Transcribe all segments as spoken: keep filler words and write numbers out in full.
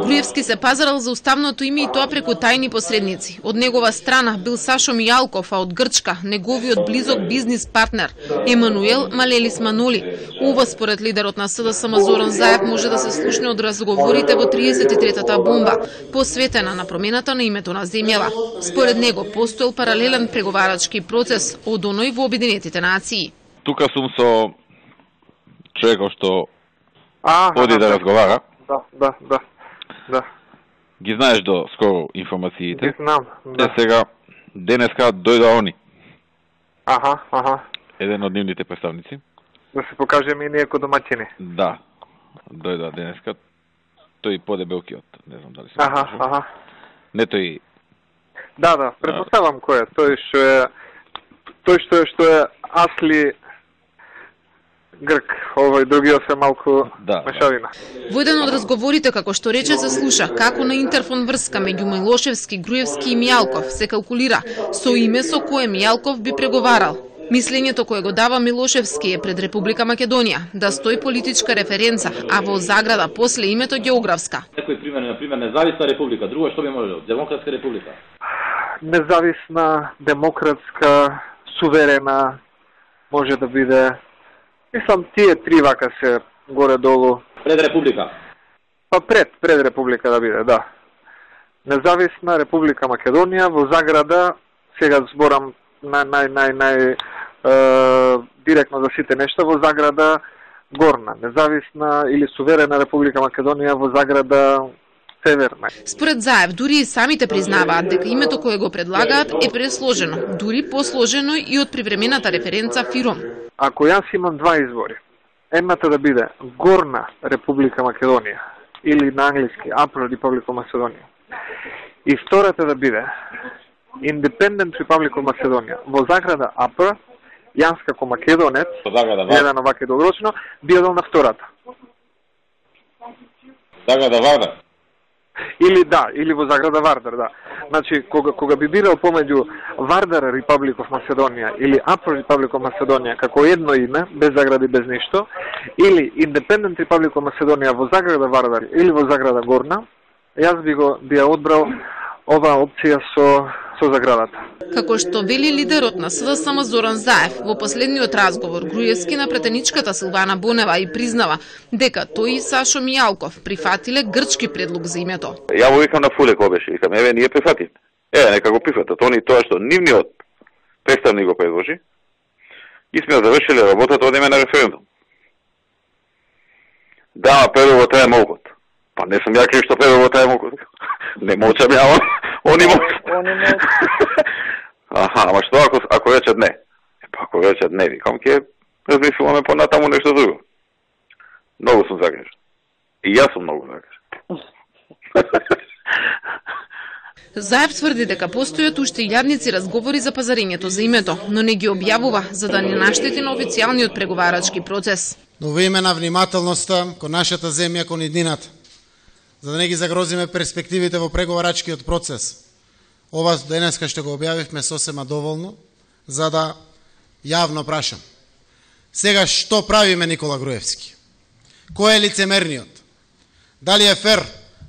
Груевски се пазарал за уставното име и тоа преку тајни посредници. Од негова страна бил Сашо Мијалков, а од Грчка неговиот близок бизнис партнер Емануел Малелис Маноли. Ова според лидерот на СДСМ Зоран Заев може да се слушне од разговорите во триесет и третата бомба, посветена на промената на името на земјава. Според него постоел паралелен преговарачки процес од оној во Обединетите нации. Тука сум со човекот што А, оди да разговара. Да, да, да. Да. Ги знаеш до скоро информациите. Ги знам, да. Е сега денеска дојда они. Аха, аха. Еден од нивните представници. Да се покажеме и ние како домаќини. Да. Дојда денеска. Тој подебелкиот, не знам дали се Аха, покажа. аха. Не тој. Да, да, претпоставам кој е. Тој што е тој што е што е Асли Грк, овој другиот се малку да, мешавина. Да. Во еден од разговорите, како што рече, се слуша како на интерфон врска меѓу Милошевски, Груевски и Мијалков се калкулира со име со кое Мијалков би преговарал. Мислењето кое го дава Милошевски е пред Република Македонија да стои политичка референца, а во заграда после името географска. Некој пример, на пример, независна република, друго што би можело? Демократска република. Независна, демократска, суверена може да биде. Мислам, тие три вака се горе-долу. Пред република? Па пред, пред република да биде, да. Независна Република Македонија, во заграда, сега зборам нај, нај, нај, нај, е, директно за сите нешта, во заграда горна. Независна или суверена Република Македонија, во заграда северна. Според Заев, дури и самите признаваат дека името кое го предлагаат е пресложено, дури посложено и од привремената референца Фиром. Ако јас имам два избори, едната да биде Горна Република Македонија или на англиски Upper Republic of Macedonia и втората да биде Independent Republic of Macedonia во заграда Upper, јас како македонец, гледано вака долгорочно, би одел на втората. Заграда Вардар? Или да, или во заграда Вардар, да. Значи, кога, кога би бирал помеѓу Вардар Republic of Macedonia или Upper Republic of Macedonia како едно име, без загради, без ништо, или Independent Republic of Macedonia во заграда Вардар или во заграда Горна, јас би го би ја одбрал оваа опција со со заградата. Како што вели лидерот на СДСМ Зоран Заев во последниот разговор, Груевски на претеничката Силвана Бонева и признава дека тој и Сашо Мијалков прифатиле грчки предлог за името. Ја го викам на Фулеко беше, викам, еве ние прифатиме. Еве нека го прифатат. Они тоа што нивниот представник го предложи, и сме завршиле работата, одиме на референдум. Да, прво таа могот. Па не сум ја крив што прво таа могот. Не мочам ја, они могат. Аха, ама што ако, ако речат не? Па ако речат не, викам, ке размислуваме понатаму нешто друго. Многу сум загрижен. И јас сум многу загрижен. Заев тврди дека постојат уште илјадници разговори за пазарењето за името, но не ги објавува за да не наштети на официјалниот преговарачки процес. Но во име на внимателноста кон нашата земја, кон иднината, за да не ги загрозиме перспективите во преговарачкиот процес, ова денеска што го објавивме сосема доволно, за да јавно прашам. Сега што правиме, Никола Груевски? Кој е лицемерниот? Дали е фер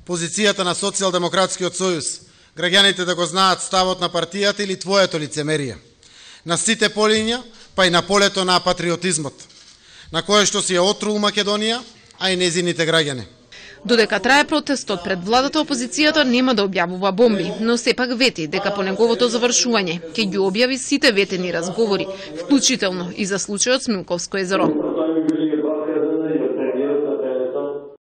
позицијата на Социјалдемократскиот сојуз, граѓаните да го знаат ставот на партијата или твоето лицемерие? На сите полиња, па и на полето на патриотизмот, на кое што си ја отрул Македонија, а и незините граѓани. Додека трае протестот пред владата, опозицијата нема да објавува бомби, но сепак вети дека по неговото завршување ќе ги објави сите ветени разговори, вклучително и за случајот Смилковско езеро.